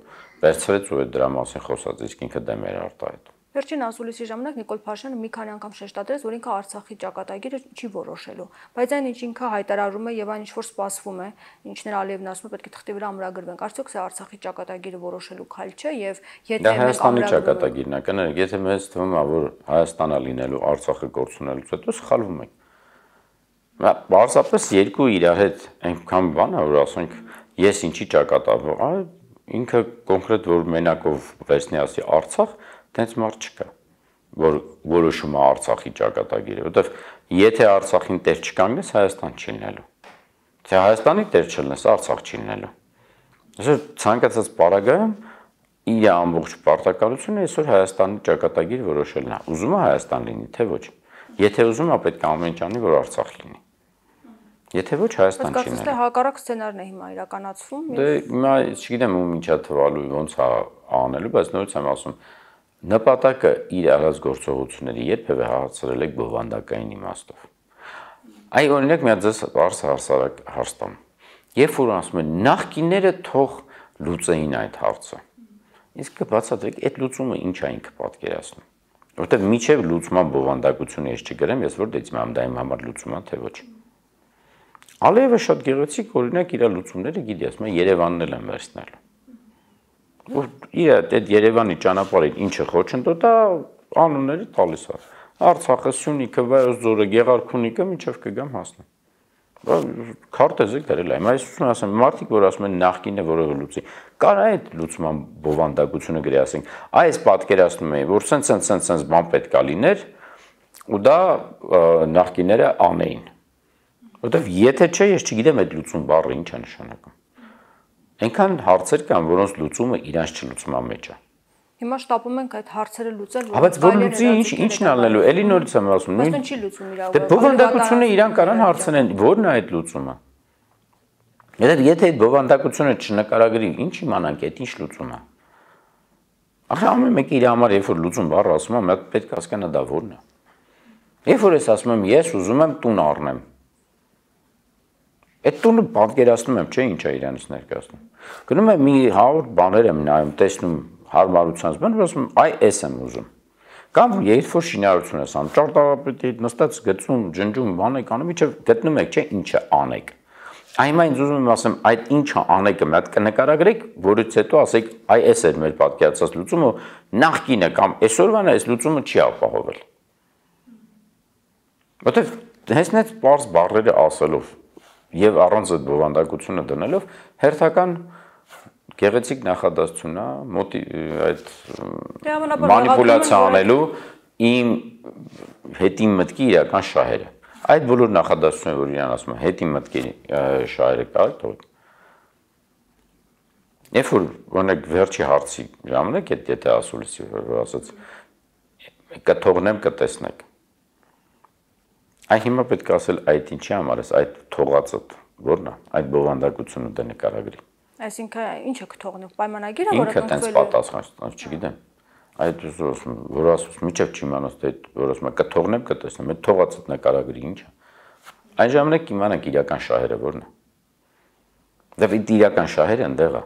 S2: վերցրեց ու այդ դրա մասին խոսած, իսկ ինքը դեմ էր արտահայտում։
S1: Վերջին ասուլիսի ժամանակ Նիկոլ Փաշինյանը մի քանի անգամ շեշտադրեց, որ ինքը Արցախի ճակատագիրը չի որոշելու, բայց այն ինչ ինքը հայտարարում է եւ այն ինչ որ սպասվում է, ինչներ Ալիևն ասում է, պետք է թղթի վրա ամրագրվենք, արդյոք սա Արցախի ճակատագիրը որոշելու քայլ չէ եւ եթե
S2: մենք Հայաստանի ճակատագիրն է, կներեք, եթե մեզ թվում է, որ Հայաստանը լինելու Արցախը կորցնելուց հետո սխալվում ենք։ Պարզապես երկու իրար հետ այնքան բան է, որ ասենք ես ինչի ճակատագրում, այ ինքը կոնկրետ որ մենակով վերցնի ասի Արցախ, տենց մարդ չկա, որ որոշում է Արցախի ճակատագիրը, որտեվ եթե Արցախին տեր չկանգնես, Հայաստան չի լինելու։ Թե Հայաստանի տեր չլինես, Արցախ չի լինելու։ Այսօր ցանկացած պարագայում իր ամբողջ պարտականությունը այսօր Հայաստանի ճակատագիր որոշելն է։ Ուզում է Հայաստան լինի, թե ոչ։ Եթե ուզում է, պետք է ամեն ինչ անի, որ Արցախ լինի։ Եթե ոչ Հայաստան չի լինելու։
S1: Բայց հակառակ սցենարն է հիմա իրականացվում։
S2: Դե հիմա չգիտեմ ում ինչա թվալու ոնց է անելու, բայց նորից եմ ասում, նպատակը իր արած գործողությունների երբևէ հաղթել եք բովանդակային իմաստով։ Այ օրինակ մի հատ ձեզ բարձ հարցարակ հարց տամ։ Երբ որ ասում են նախկինները թող լուծեին այդ հարցը։ Իսկ կբացատրեք այդ լուծումը ինչ է ինքը պատկերացնում։ Որտեվ միջև լուծման բովանդակությունը ես չգրեմ, ես որ դիտում եմ դա իմ համար լուծում է թե ոչ։ Ալիևը շատ գեղեցիկ օրինակ իր լուծումները գիտի, ասում է Երևանն էլ են վերցնելու։ Որ իր այդ Երևանի ճանապարհին ինչը խոչընդոտ է, անունները տալիս է։ Արցախը, Սյունիքը, Վայոց ձորը, Գեղարքունիքը մինչև կգամ հասնեմ։ Քարտեզը գրել է։ Այս ուսում ասեմ, մարդիկ որ ասում են նախկինը որևէ լուծի, կար այդ լուծման բովանդակությունը գրի ասենք, այս պատկերացնում էի, որ սենց սենց սենց սենց բան պետք է լիներ, ու դա նախկինները անեին։ Որտեվ եթե չէ, ես չգիտեմ այդ լուծում բառը ինչ է նշանակում։ Այնքան հարցեր կան, որոնց լուծումը իրանց չլուծման մեջ է։
S1: Հիմա շտապում ենք այդ հարցերը լուծել,
S2: որ բայց որ լուծի ինչ ինչն անելու, էլի նորից եմ ասում, նույն։
S1: Բայց չի լուծում իրավաբան։
S2: Դե բովանդակությունը իրան կարան հարցնեն, ո՞րն է այդ լուծումը։ Եթե այդ բովանդակությունը չնկարագրի, ինչ իմանանք, այդ ինչ լուծում է։ Ախր ամեն մեկը իր համար երբ որ լուծում բառը ասում է, մենք պետք է հասկանա դա ո՞րն է։ Երբ որ ես ասում եմ, ես ուզում եմ տուն առնեմ։ Այդ տունը պատկերացնում եմ, չէ՞ ինչ է իրանից ներկայացնում։ Գնում եմ մի հարյուր բաներ եմ նայում, տեսնում հարմարությանց բան, ասում եմ, այ էս եմ ուզում։ Կամ երբ որ շինարարություն ես անում, ճարտարապետի հետ նստած գծում, ջնջում, բան եք անում, իջը գտնում եք, չէ՞ ինչը անեք։ Այ ինձ ուզում եմ ասեմ, այդ ինչը անեկը մի հատ կնկարագրեք, որից հետո ասեք, այ էս էր մեր պատկերացած լուծումը, նախկինը կամ այսօրվան այս լուծումը չի ապահովել։ Որտեվ հենց այդ բարձ բառերը ասելով եւ առանց այդ բովանդակությունը դնելով հերթական գեղեցիկ նախադասություն է, այդ մանիպուլյացիա անելու իմ հետին մտքի իրական շահերը։ Այդ բոլոր նախադասությունները, որ իրան ասում են, հետին մտքի շահերը կա, թող։ Երբ որ օրինակ վերջի հարցի ժամանակ այդ եթե ասուլիսի ասած կթողնեմ կտեսնեք։ Այ հիմա պետք է ասել այդ ինչի համար է, այդ թողածը ո՞րն է, այդ բովանդակությունը դե նկարագրի։
S1: Այսինքն ինչը կթողնենք, պայմանագիրը,
S2: որը ինքը տենց պատասխան, չգիտեմ։ այդ որ ասում միջև չիմանաս թե որ ասում կթողնեմ կտեսնեմ այդ թողածդ նկարագրի ինչ է այն ժամանակ կիմանանք իրական շահերը որն է դե իրական շահերը ընդեղ է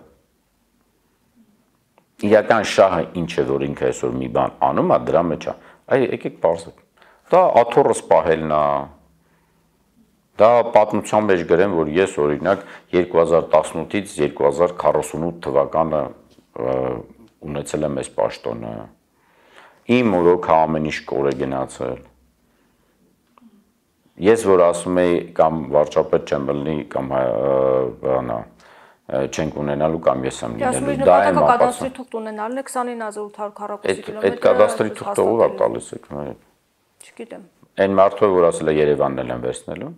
S2: իրական շահը ինչ է որ ինքը այսօր մի բան անում է դրա մեջ է այ եկեք բարձր դա աթոռը սպահելն է դա պատմության մեջ գրեմ որ ես օրինակ երկու հազար տասնութից երկու հազար քառասունութ թվականը ունեցել եմ այս պաշտոնը իմ օրոքը ամեն ինչ կոր է գնացել ես որ ասում եի կամ վարչապետ չեմ լինի կամ բանա չենք ունենալու կամ ես եմ լինելու
S1: դա է կադաստրի թուղթ ունենալն է քսանինը հազար ութ հարյուր քառակուսի կիլոմետր
S2: այդ կադաստրի թուղթը ով է տալիս եք
S1: չգիտեմ
S2: այն մարդը որ ասել է Երևանն էլ են վերցնելու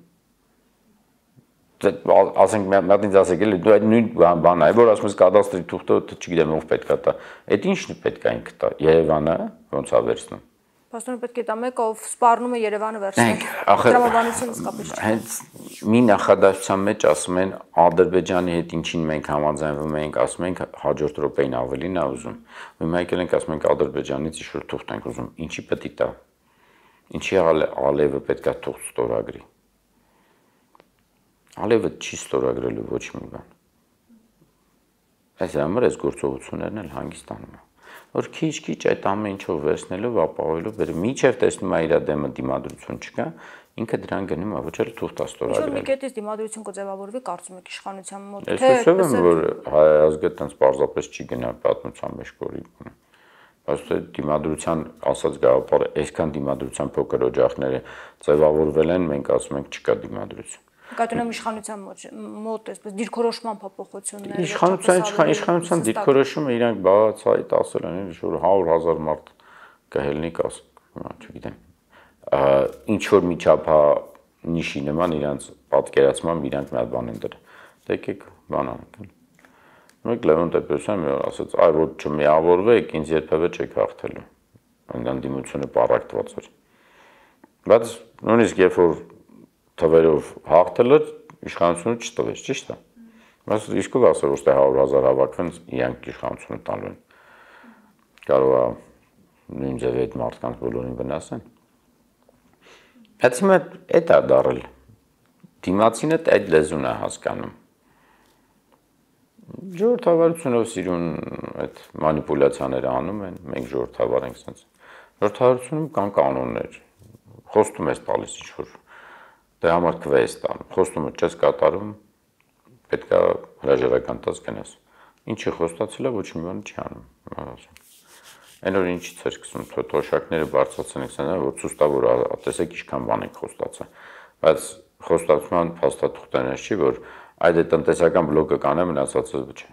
S2: ասենք մատից ասեք էլի դու այդ նույն բանն է որ ասում ես կադաստրի թուղթը չգիտեմ ով պետք է տա այդ ինչն է պետք է ինքը տա Երևանը ոնց է վերցնում
S1: Պաստորը պետք է տա մեկը ով սպառնում է Երևանը վերցնել տրամաբանությունը իսկապես
S2: հենց մի նախադասության մեջ ասում են Ադրբեջանի հետ ինչին մենք համաձայնվում ենք ասում ենք հաջորդ րոպեին ավելին է ուզում հիմա եկել ենք ասում ենք Ադրբեջանից ինչ-որ թուղթ ենք ուզում ինչի պետք է տա ինչի Ալիևը պետք է թուղթ ստորագրի Ալիևը չի ստորագրելու ոչ մի բան այս համար այս գործողություններն էլ հանգստանում է որ քիչ-քիչ այդ ամեն ինչով վերցնելով ապահովելով բերում միջև տեսնում է իր դեմը դիմադրություն չկա ինքը դրան գնում է ոչ էլ թուղթ է ստորագրել
S1: մի կետից դիմադրություն կձևավորվի կարծում եք իշխանության մոտ
S2: թե ասում եմ որ հայ ազգը տենց պարզապես չի գնա պատմության մեջ կորի բայց թե դիմադրության ասած գաղափարը այսքան դիմադրության փոքր օջախները ձևավորվել են մենք ասում ենք չկա դիմադրություն
S1: Կայտունեմ իշխանության մոտ այսպես դիրքորոշման փոփոխություններ
S2: Իշխանության իշխանության դիրքորոշումը իրանք բացահայտ ասել են որ հարյուր հազար մարդ կհելնի կաս չգիտեմ ինչ որ միջափա նիշի նման իրանք պատկերացմամբ իրանք մի հատ բան են դրել եկեք բան անենք մեկ Լևոն Տեր-Պետրոսյանը մի օր ասաց այ որ չմիավորվեք ինձ երբևէ չեք հաղթելու այնքան դիմությունը պարակտված էր բայց նույնիսկ երբ որ թվերով հաղթելը իշխանությունը չտվեց, ճիշտ է։ Բայց իսկով ասել որ ստե հարյուր հազար հավաքվեն իրանք իշխանությունը տալու են։ Կարող է նույն ձև այդ մարդկանց բոլորին վնասեն։ Բայց հիմա այդ է դարել։ Դիմացինը այդ լեզուն է հասկանում։ Ժողովրդավարությունով սիրուն այդ մանիպուլյացիաները անում են, մենք ժողովրդավար ենք sense։ Ժողովրդավարությունում կան կանոններ։ Խոստում ես տալիս ինչ-որ Դե համար քվեստ ան, խոստումը չես կատարում, պետք է հրաժարական տաս գնաս։ Ինչի խոստացել է, ոչ մի բան չի անում։ Այն որ ինչից էր սկսում, թոշակները բարձրացան եք սանա, որ ցույց տա որ տեսեք ինչքան բան եք խոստացել։ Բայց խոստացման փաստաթուղթերն չի, որ այդ է տնտեսական բլոկը կանե մնացածը չէ։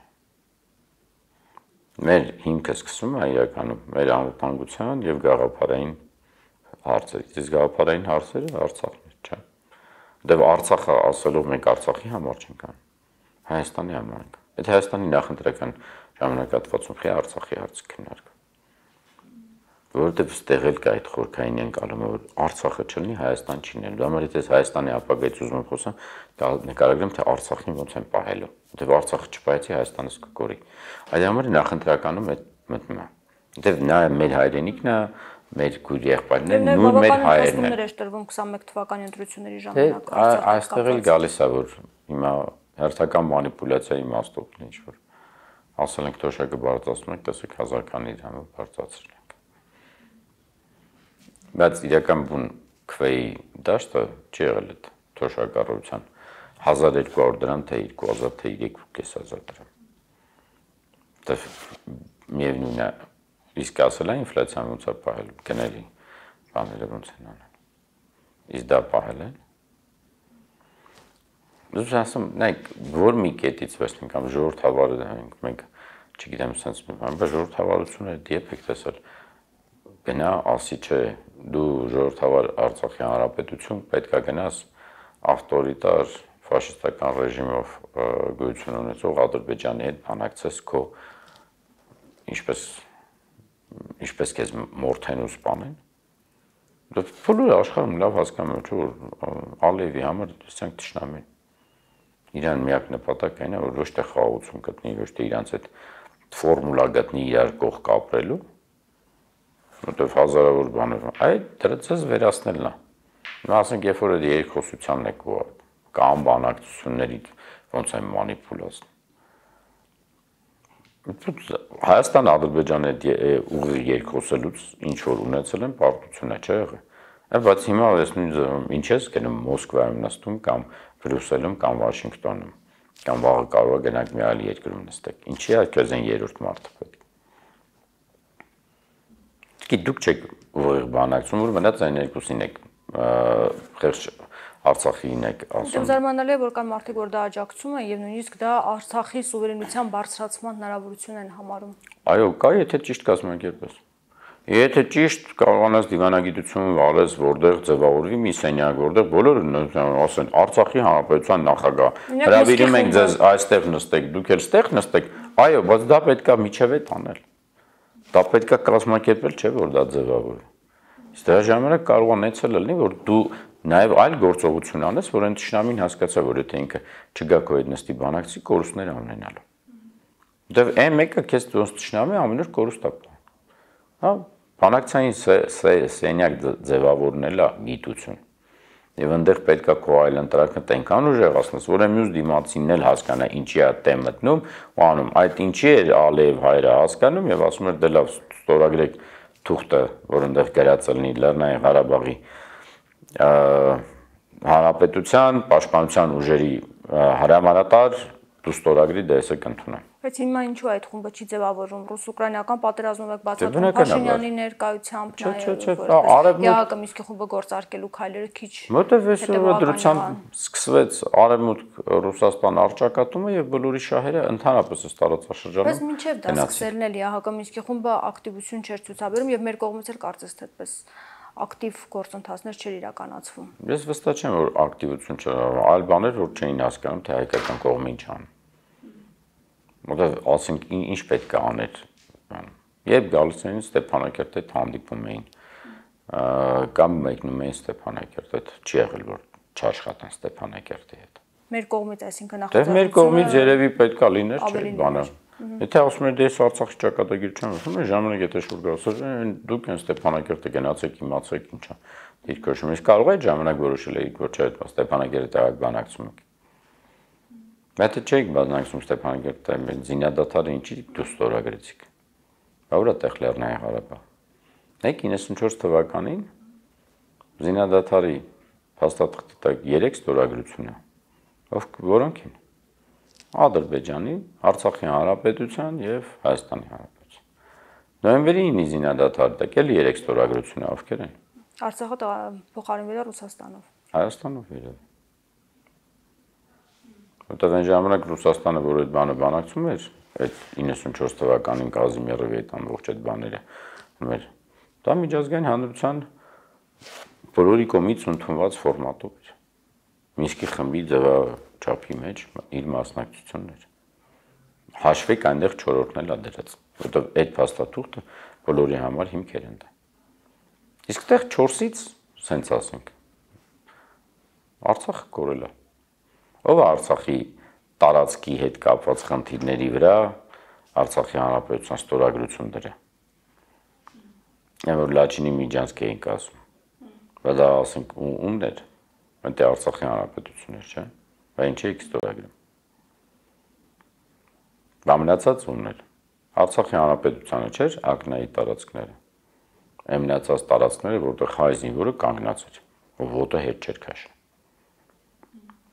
S2: Մեր հիմքը սկսում է իրականում մեր անվտանգության եւ գաղափարային հարցերից։ Իսկ գաղափարային հարցերը Արցախն է, չէ։ Դե Արցախը ասելով մենք Արցախի համար չենք անում, Հայաստանի համար ենք։ Այդ Հայաստանի նախընտրական ժամանակահատվածում խի Արցախի հարցը քննարկվում։ Որովհետև ստեղ էլ կա այդ խորքային ընկալումը, որ Արցախը չլինի, Հայաստան չի լինելու։ Դա համար եթե Հայաստանի ապագայից ուզում եմ խոսամ, նկարագրեմ թե Արցախին ոնց են պահելու։ Որովհետև Արցախը չպահեցի Հայաստանը կկորի։ Այդ համար նախընտրականում այդ մտնում է։ Որովհետև նա մեր հայրենիքն է, մեր գույր եղբայրներն են, նույն մեր հայերն են։
S1: Էր տրվում քսանմեկ թվականի ընտրությունների ժամանակ։
S2: Այստեղ էլ գալիս է որ հիմա հերթական մանիպուլյացիայի իմաստով ինչ որ ասել ենք թոշակը բարձրացնում ենք, տեսեք հազարքանի դրամը բարձրացրել ենք։ Բայց իրական բուն քվեի դաշտը չի եղել այդ թոշակառույցան հազար երկու հարյուր դրամ թե երկու հազար թե երկու կես հազար դրամ։ Դա միևնույն է Իսկ ասել է ինֆլյացիան ոնց է պահել, գնելի բաները ոնց են անել։ Իսկ դա պահել են։ Դուք ասում, նայեք, որ մի կետից վերցնենք կամ ժողովրդավարը ենք, մենք չգիտեմ, sense մի բան, բայց ժողովրդավարությունը դիեփ եք տեսել։ Գնա, ասի չէ, դու ժողովրդավար Արցախի հանրապետություն պետք է գնաս ավտորիտար ֆաշիստական ռեժիմով գոյություն ունեցող Ադրբեջանի հետ բանակցես քո ինչպես ինչպես քեզ մորթեն ու սպանեն։ Դա բոլորը աշխարհում լավ հասկանում են, որ Ալիևի համար դրանք ճշնամի են։ Իրան միակ նպատակը այն է, որ ոչ թե խաղաղություն գտնի, ոչ թե իրանց այդ ֆորմուլա գտնի իրար կողք ապրելու, որտեվ հազարավոր բաներ։ Այդ դրածս վերացնելն է։ Ասենք, երբ որ երկխոսությանն եք ու կամ բանակցությունների ոնց են մանիպուլացնում։ Հայաստան Ադրբեջանի հետ ուղիղ երկխոսելուց ինչ որ ունեցել են պարտություն է, չէ՞ եղել։ Բայց հիմա ես նույն ինչ ես գնում Մոսկվայում նստում կամ Բրյուսելում կամ Վաշինգտոնում կամ վաղը կարող է գնանք մի այլ երկրում նստեք։ Ինչի՞ է քեզ այն երրորդ մարդը պետք։ Իսկ դուք չեք ուղիղ բանակցում, որ մնաց այն երկուսին եք խեղճ Արցախին եք ասում։
S1: Զարմանալի է, որ կան մարդիկ, որ դա աջակցում են եւ նույնիսկ դա Արցախի սուվերենության բարձրացման հնարավորություն են համարում։
S2: Այո, կա, եթե ճիշտ կազմակերպես։ Եթե ճիշտ կարողանաս դիվանագիտություն վարես, որտեղ ձևավորվի մի սենյակ, որտեղ բոլորը ասեն Արցախի հանրապետության նախագահ, հրավիրում ենք ձեզ այստեղ նստեք, դուք էլ ստեղ նստեք, այո, բայց դա պետքա միջև է տանել։ Դա պետքա կազմակերպել, չէ՞ որ դա ձևավորվի։ Իսկ դրա ժամանակ կարող անեցել լինի, որ դու նաև այլ գործողություն անես, որ այն ճշնամին հասկացա, որ եթե ինքը չգա քո հետ նստի բանակցի, կորուստներ ունենալու։ Որտեվ այն մեկը քեզ ոնց ճշնամի ամեն օր կորուստ է։ Հա, բանակցային սենյակ ձևավորնելը գիտություն։ Եվ այնտեղ պետքա քո այլընտրանքը տենքան ուժեղացնես, որ մյուս դիմացինն էլ հասկանա ինչի է տեմ մտնում, ու անում այդ ինչի է Ալիև հայրը հասկանում եւ ասում էր դե լավ ստորագրեք թուղթը, որ այնտեղ գրած լինի Լեռնային Ղարաբաղի հանրապետության պաշտպանության ուժերի հրամանատար դու ստորագրի դեսը կընդունեմ։
S1: Բայց հիմա ինչու այդ խումբը չի ձևավորվում ռուս-ուկրաինական պատերազմով եք բացատրում Փաշինյանի ներկայությամբ նաև ԵԱՀԿ Մինսկի խումբը գործարկելու քայլերը քիչ
S2: որտեվ այս դրությամբ սկսվեց Արևմուտք Ռուսաստան առճակատումը եւ բոլորի շահերը ընդհանրապես ըստ տարածաշրջանում։
S1: Բայց մինչեւ դա սկսելն էլ ԵԱՀԿ Մինսկի խումբը ակտիվություն չէր ցուցաբերում եւ մեր կողմից էլ կարծես թե այդպես ակտիվ գործընթացներ չէր իրականացվում։
S2: Ես վստահ չեմ, որ ակտիվություն չէր, այլ բաներ որ չէին հասկանում, թե հայկական կողմը ինչ անում։ Որտեղ ասենք ինչ պետք է աներ, երբ գալիս էին Ստեփանակերտ հետ հանդիպում էին, կամ մեկնում էին Ստեփանակերտ հետ, չի եղել որ չաշխատեն Ստեփանակերտի հետ։
S1: Մեր կողմից, այսինքն
S2: նախաձեռնությունը։ Դե մեր կողմից երևի պետք է լիներ, չէ՞ բանը։ Եթե ասում եք դες Արցախի ճակատագիր չեմ ասում, ժամանակ եթե շուտ գալիս, դուք այն Ստեփանակերտը գնացեք, իմացեք ինչա։ Դիրքոշում ես կարող եք ժամանակ որոշել եք, որ չէ, Ստեփանակերտը տեղակ բանակցում եք։ Եթե չեք բանակցում Ստեփանակերտը, զինադադարը ինչի դու ստորագրեցիք։ Բավարար տեղ Լեռնային Ղարաբաղ։ Մեկ իննսունչորս թվականին զինադադարի փաստաթղթի տակ երեք ստորագրություն է։ Ով որոնք են։ Ադրբեջանի, Արցախի հանրապետության եւ Հայաստանի հանրապետության։ Նոյեմբերի ինը զինադադարի տակ էլ երեք ստորագրություն է, ովքեր են։
S1: Արցախը փոխարինվել է Ռուսաստանով։
S2: Հայաստանով երևի։ Որտեղ այն ժամանակ Ռուսաստանը որ այդ բանը բանակցում էր, այդ իննսունչորս թվականին Կազիմիրովի այդ ամբողջ այդ բաները, մեր դա միջազգային հանրության բոլորի կողմից ընդունված ֆորմատով էր։ Մինսկի խմբի ձևաչափի մեջ իր մասնակցությունն էր։ Հաշվեք այնտեղ չորրորդն էլ դրած, որտեղ այդ փաստաթուղթը բոլորի համար հիմքեր են դա։ Իսկ այդտեղ չորսից, սենց ասենք, Արցախը կորել է։ Ով է Արցախի տարածքի հետ կապված խնդիրների վրա Արցախի հանրապետության ստորագրություն դրել։ Այն որ Լաչինի Միջանցք էինք ասում։ Բայց դա ասենք ումն էր։ Այնտեղ Արցախի հանրապետություններ, չէ՞։ Բայց ինչ եք ստորագրում։ Բամնացած ումն էր։ Արցախի հանրապետությանը չէր ակնայի տարածքները։ Այն մնացած տարածքները, որտեղ հայ զինվորը կանգնած էր, ով ոտը հետ չէր քաշել։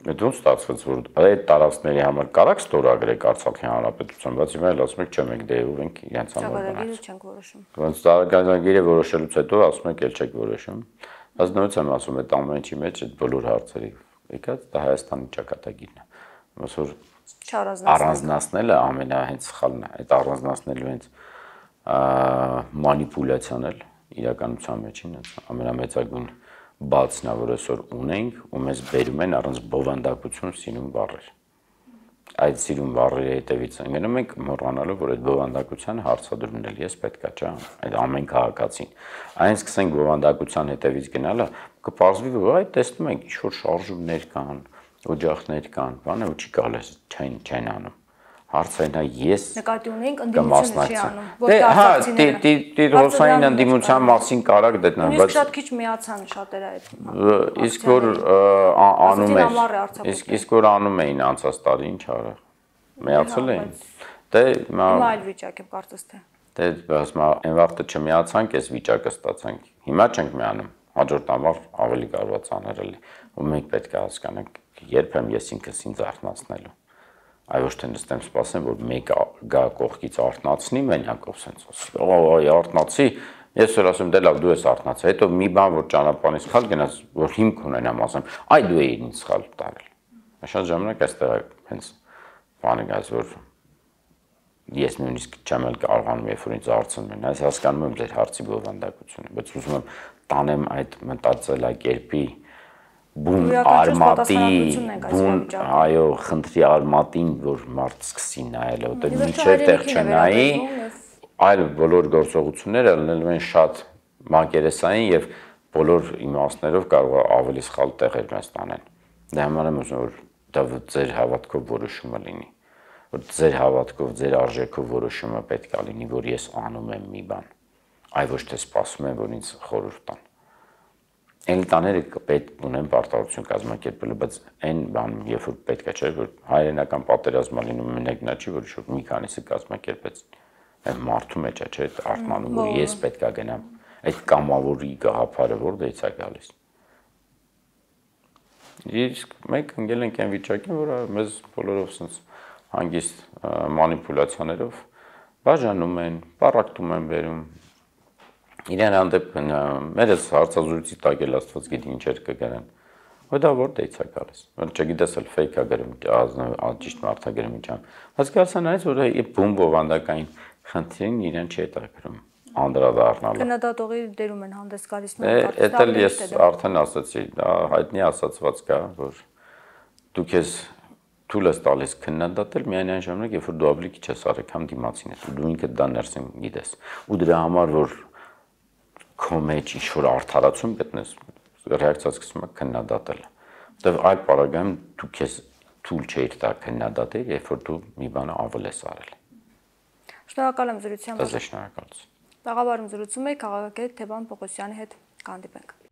S2: Այդ ոնց ստացվեց, որ այդ տարածքների համար կարակ ստորագրեք Արցախի հանրապետության, բայց հիմա էլ ասում եք, չէ, մենք դեհով ենք իրենց համար
S1: բանակցում։ Չենք որոշում։
S2: Ոնց տարածքագիրը որոշելուց հետո ասում եք, ել չեք որոշում։ Բայց նույնպես եմ ասում, այդ ամեն ինչի մեջ այդ բոլոր հարցերի եկած դա Հայաստանի ճակատագիրն է։ Ոնց որ առանձնացնելը ամենա հենց սխալն է, այդ առանձնացնելու հենց մանիպուլյացիան էլ իրականության մեջին ամենամեծագույն բացն է, որ այսօր ունենք ու մեզ բերում են առանց բովանդակություն սիրուն բառեր։ Այդ սիրուն բառերի հետևից ընկնում ենք մոռանալով, որ այդ բովանդակության հարցադրումն էլ ես պետքա չէ, այդ ամեն քաղաքացին։ Այն սկսենք բովանդակության հետևից գնալը, կպարզվի, որ այդ տեսնում ենք ինչ որ շարժումներ կան, օջախներ կան, բանը ու չի կարելի չեն չեն անում։ Հարցը այն է, ես
S1: նկատի ունենք ընդդիմությունը չի անում, ոչ
S2: թե հա,
S1: դասակցիները։
S2: Տիրոսային ընդդիմության մասին կարակ դետնան,
S1: բայց շատ քիչ միացան շատերը այդ։
S2: Իսկ որ անում էր, իսկ որ անում էին անցած տարի, ինչ արա։ Միացել էին։ Դե
S1: հիմա այլ վիճակ է, կարծես թե։
S2: Դե ասում եմ, այն վաղտը չմիացանք, այս վիճակը ստացանք։ Հիմա չենք միանում, հաջորդ ամառ ավելի կարողացած անել, ու մենք պետք է հասկանանք, երբ եմ ես ինքս ինձ արթնացնելու։ Այ ոչ թե նստեմ սպասեմ, որ մեկը գա կողքից արթնացնի, մենակով սենց ասի։ Օ, արթնացի, ես որ ասում դե լավ դու ես արթնացել, հետո մի բան որ ճանապարհից սխալ գնաց, որ հիմք ունենամ ասեմ, այ դու էիր ինձ սխալ տարել։ Շատ ժամանակ այստեղ հենց բանը գաց որ ես նույնիսկ չեմ էլ կարողանում երբ որ ինձ հարցնում են, այս հասկանում եմ ձեր հարցի բովանդակությունը, բայց ուզում եմ տանեմ այդ մտածելակերպի բուն արմատի, բուն, այո, խնդրի արմատին, որ մարդ սկսի նայել, որտեղ միջև տեղ չնայի, այլ բոլոր գործողությունները լինելու են շատ մակերեսային եւ բոլոր իմաստներով կարող է ավելի սխալ տեղեր մեզ տանեն։ Դա համար եմ ուզում որ դա ձեր հավատքով որոշումը լինի, որ ձեր հավատքով, ձեր արժեքով որոշումը պետք է լինի, որ ես անում եմ մի բան, այլ ոչ թե սպասում եմ, որ ինձ խորհուրդ տան։ Էլիտաները պետք ունեն պարտավորություն կազմակերպելու, բայց այն բանում, երբ որ պետք է չէ, որ հայրենական պատերազմը լինում մենակ նա չի, որ շուտ մի քանիսը կազմակերպեց, այն մարդու մեջ է, չէ, արթնանում, որ ես պետք է գնամ, այդ կամավորի գաղափարը որտեղից է գալիս։ Իսկ մենք ընկել ենք այն վիճակին, որ մեզ բոլորով sense հանգիստ մանիպուլյացիաներով բաժանում են, պարակտում են բերում։ Իրեն հանդեպ մերս հարցազրույցի տակ էլ Աստված գիտի ինչեր կգրեն։ Ու դա որտեղից է գալիս։ Որ չգիտես էլ fake-ա գրում, ճիշտ մարդա գրում ինչա։ Բայց կարծան այս որ է բում բովանդակային խնդրին իրեն չի հետաքրում անդրադառնալը։
S1: Քննադատողի դերում են հանդես գալիս
S2: նույնիսկ։ Էդ էլ ես արդեն ասացի, դա հայտնի ասացված կա, որ դու քեզ թույլ ես տալիս քննադատել միայն այն ժամանակ, երբ որ դու ավելի քիչ ես արել, քան դիմացին ես, դու ինքդ դա ներսին գիտես։ Ու դրա համար որ քո մեջ ինչ-որ արդարացում գտնես, ռեակցիա սկսում է քննադատելը։ Որտեվ այդ պարագայում դու քեզ թույլ չէիր տա քննադատել, երբ որ դու մի բան ավել ես արել։
S1: Շնորհակալ եմ զրույցի համար։
S2: Դա շնորհակալություն։
S1: Տաղավարում զրուցում էի քաղաքագետ Թևան Պողոսյանի հետ, կհանդիպենք։